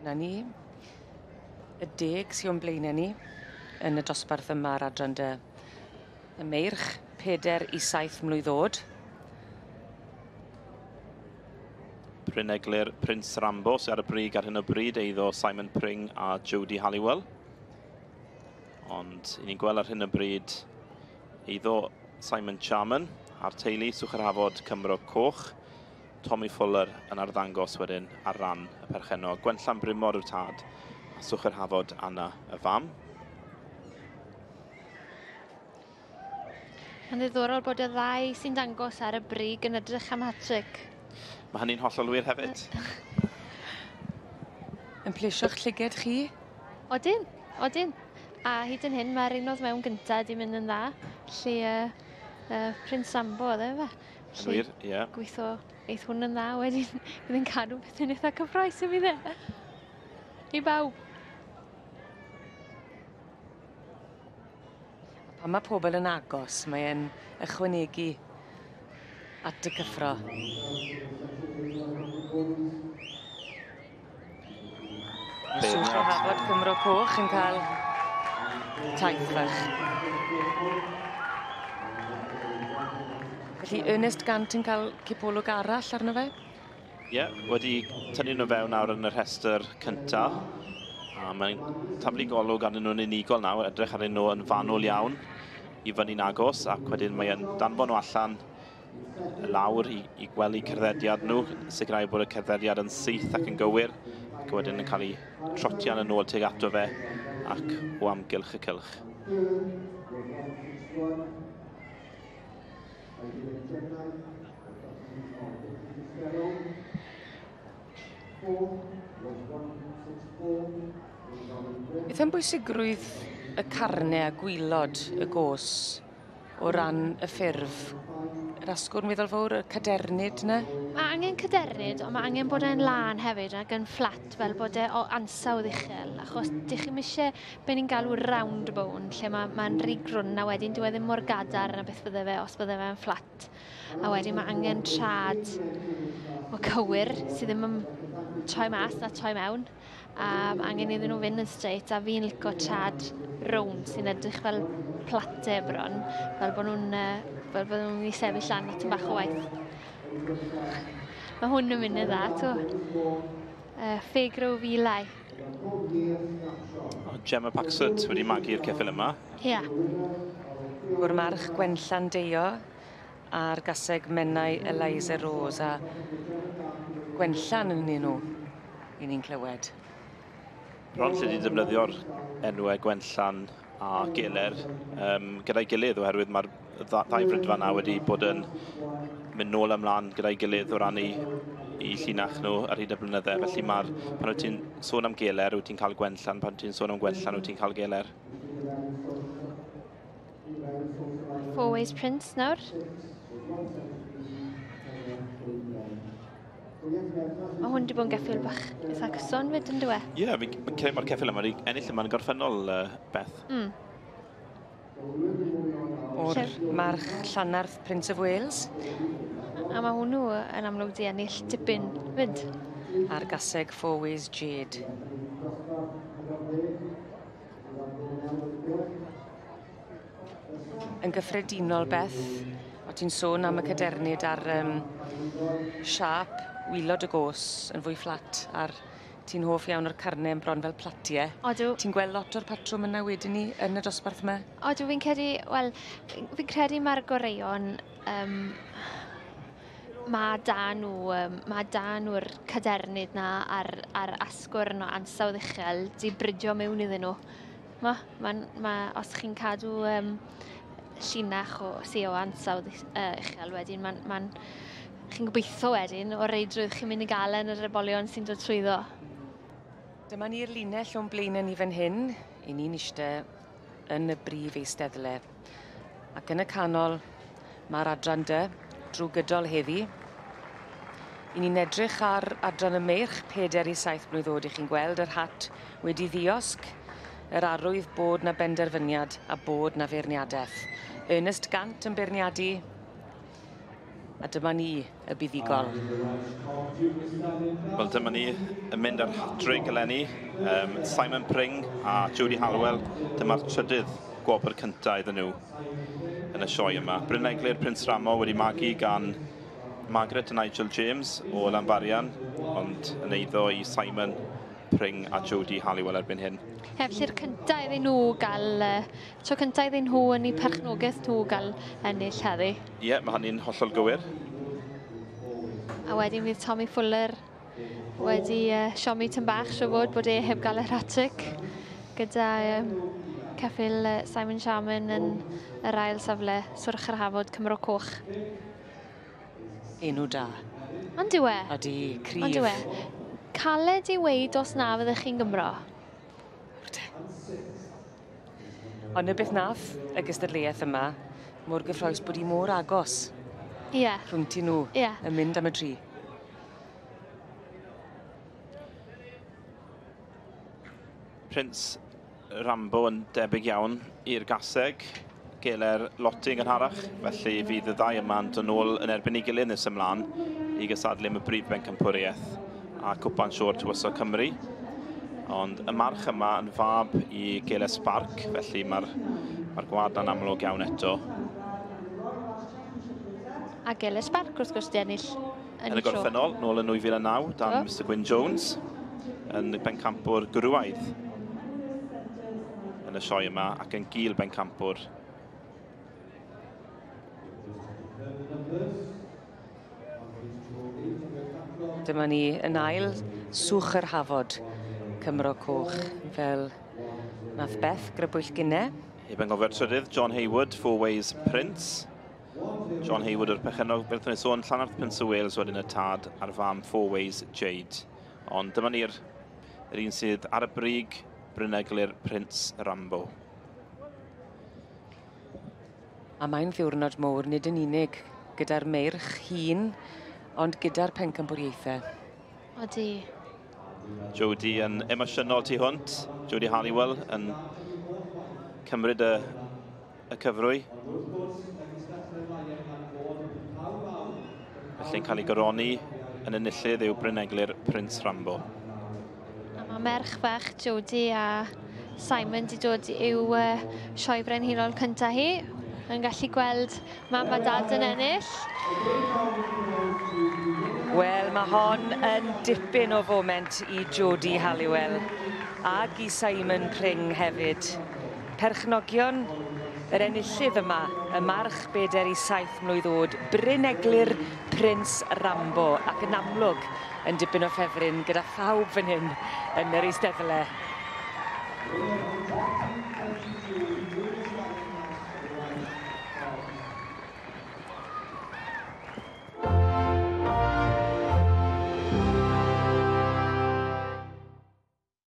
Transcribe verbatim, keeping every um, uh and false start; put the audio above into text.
Dyna ni. Y deg sy'n o'n blaenau ni yn y dosbarth yma ar adran dy y meirch, peder i saith mlwydd oed. Bryn Eglur, Prince Rambo sydd ar y brig ar hyn o bryd, eiddo Simon Pring a Jodie Halliwell. Ond i ni'n gweld ar hyn o bryd eiddo Simon Charman a'r teulu Swch yr Hafod Cymro Coch. Tommy Fuller yn arddangos wedyn ar ran y perchennog. Gwenllan Brymor yw'r tad a Swch yr Hafod Anna y fam. Mae'n ddiddorol bod y ddau sy'n dangos ar y brig yn edrych am hat-trick. Mae hynny'n hollol wir hefyd. Yn plesio'ch llyged chi? Odyn, odyn. A hyd yn hyn mae'r un oedd mewn gyntaf wedi mynd yn dda. Lle uh, uh, Prince Sambo oedd e fe. Yn wir, ie. Yeah. Gweithio eith hwn yn dda wedyn bydd yn cadw pethau'n eitha cyffrous i fi dde. I bawb. Pan mae pobl yn agos, mae'n ychwanegu at y cyffro. Swch o Hafod Cymro Coch yn cael taith fach. Felly Ernest Gant yn cael cipolwg arall arno fe? Ie, yeah, wedi tynnu nhw fewn nawr yn y rhestr cynta. A mae'n taflu golwg arnyn nhw'n unigol nawr, edrych arnyn nhw yn fanwl iawn i fyny'n agos, ac wedyn mae'n danfon nhw allan lawr i, i gwely cerddediad nhw, sicrhau bod y cerddediad yn syth ac yn gywir, ac wedyn yn cael ei trotian yn ôl tuag ato fe ac o amgylch y cylch. Beth am bwysigrwydd y carnau a gwylod y gos o ran y ffurf? Yr asgwrn weddol fawr, y cadernid yna? Mae angen cadernid, ond mae angen bod e'n lân hefyd ac yn fflat fel bod e o ansawdd uchel, achos dych chi'm eisiau be ni'n galw round bone, lle mae'n ma rhy grwn a wedyn dyw e ddim mor gadarn a beth fydde fe os bydde fe'n fflat. A wedyn mae angen trad o cywir sydd ddim yn troi mas na troi mewn, a mae angen iddyn nhw fynd yn straight, a fi'n licio trad rownd sy'n edrych fel plate bron, fel bod nhw'n fel bod nhw'n mynd i sefyll lan at bach o waith. Mae hwn yn mynd yn dda, to. Uh, Ffegrow Filai. O, Gemma Paxet wedi magu'r ceffyl yma. Ia. Yeah. Gwr march Gwenllan Deio a'r gaseg Menai Eliza Rose a Gwenllan yn nhw, i ni'n clywed. Bron lle di defnyddio'r enwau Gwenllan a Geler um, gyda'i gilydd, oherwydd mae'r ddau frydfa yna wedi bod yn mynd nôl ymlaen gyda'i gilydd o ran i, i llinach nhw ar hyd y blynydde. Felly mae'r, pan wyt ti'n sôn am Geler, wyt ti'n cael Gwenllan, pan ti'n sôn am Gwenllan, wyt ti'n cael Geler. Four Ways Prince nawr. Mae hwn wedi bod yn geffyl bach eitha cyson fyd, yn dyw e? Ie, yeah, fi'n credu mae'r ceffyl yma wedi ennill yma'n gorffennol, uh, Beth. Mm. O'r march Llanarth Prince of Wales. A mae hwnnw yn amlwg di ennill dipyn fyd. A'r gaseg Four Ways Jade. Yn gyffredinol, Beth, o ti'n sôn am y cadernid a'r um, siâp wylod y gos yn fwy fflat a'r ti'n hoff iawn o'r carnau yn bron fel platiau. Odw. Ti'n gweld lot o'r patrwm yna wedyn ni yn y dosbarth yma? Odw, fi'n credu, wel, fi'n credu mae'r goreuon, um, mae da nhw, um, mae da nhw'r cadernid na a'r, a'r asgwrn o ansawdd uchel di bridio mewn iddyn nhw. Ma, ma, ma, os chi'n cadw um, llinach o sy o ansawdd uh, uchel wedyn, mae'n ma chi'n gobeithio wedyn o reidrwydd chi'n mynd i gael yn yr ebolion sy'n dod trwyddo. Dyma ni'r linell o'n blaenau ni fan hyn. I ni'n eistedd yn y brif eisteddle. Ac yn y canol mae'r adran dy drwy gydol heddi. I ni'n edrych ar adran y meirch peder i saith mlwydd oed. I chi'n gweld yr hat wedi ddiosg, yr arwydd bod na benderfyniad a bod na feirniadaeth. Ernest Gant yn beirniadu A dyma ni y buddugol. Wel, dyma ni yn mynd ar hat-trick eleni. Um, Simon Pring a Jodie Halliwell, dyma'r trydydd gwobr cyntaf iddyn nhw yn y sioe yma. Bryn Eglur Prince Ramo wedi magu gan Margaret a Nigel James o Llanbarian, ond yn eiddo i Simon Pring a Jodie Halliwell erbyn hyn. Ie, felly'r cyntaf iddyn nhw gael, tro cyntaf iddyn nhw yn eu perchnogaeth nhw gael ennill heddi. Ie, yeah, mae hynny'n hollol gywir. A wedyn fydd Tommy Fuller wedi uh, siomi tyn bach, siŵr fod bod e heb gael yr hat-trick gyda um, ceffyl uh, Simon Sharman yn yr ail safle, Swrch yr Hafod, Cymro Coch. Enw da. Ond yw e? Odi, cryf. Ond yw e? Caled i weud os na fyddech chi'n Gymro. Ond y beth nath y gystadleuaeth yma, mor gyffrous bod hi mor agos. Ie. Rhwng ti nhw Ie. yn mynd am y tri. Prince Rambo yn debyg iawn i'r gaseg, Geler Lotti yn gynharach, felly fydd y ddau yma'n dod nôl yn erbyn ei gilydd nes ymlaen i gystadlu am y brif bencampwriaeth a Cwpan Siôr Tywysog Cymru. Ond y march yma yn fab i Geler Spark, felly mae'r mae gwad na'n amlwg iawn eto. A Geler Spark wrth gwrs di ennill yn, yn y gorffennol, nôl yn nwy fil a naw, dan oh. Mister Gwyn Jones, yn bencampwr gwrywaidd yn y sioe yma ac yn gil bencampwr. Dyma ni yn ail Swch yr Hafod, Cymro Coch, fel nath Beth grybwyll gynne. Heb anghofio'r trydydd, John Hayward, Four Ways Prince. John Hayward o'r perchennog, fel wnaethon ni sôn, Llanarth Prince of Wales wedyn y tad a'r fam Four Ways Jade. Ond dyma ni'r yr un sydd ar y brig, Bryn Eglur Prince Rambo. A mae'n ddiwrnod mowr, nid yn unig gyda'r meirch hun, ond gyda'r pencampwriaethau. Odi. Jodie yn emosiynol tu hwnt. Jodie Halliwell yn cymryd y, y cyfrwy. Felly'n cael ei goroni yn enillydd yw Bryn Eglur Prince Rambo. A mae merch fach Jodie a Simon di dod i'w uh, sioe brenhinol cyntaf hi. Yn gallu gweld mam a dad yn ennill. Wel, mae hon yn dipyn o foment i Jodie Halliwell ag i Simon Pring hefyd. Perchnogion yr enillydd yma, y march bedair i saith mlwydd oed, Bryn Eglur Prince Rambo, ac yn amlwg yn dipyn o ffefryn gyda phawb fan hyn yn yr eisteddle.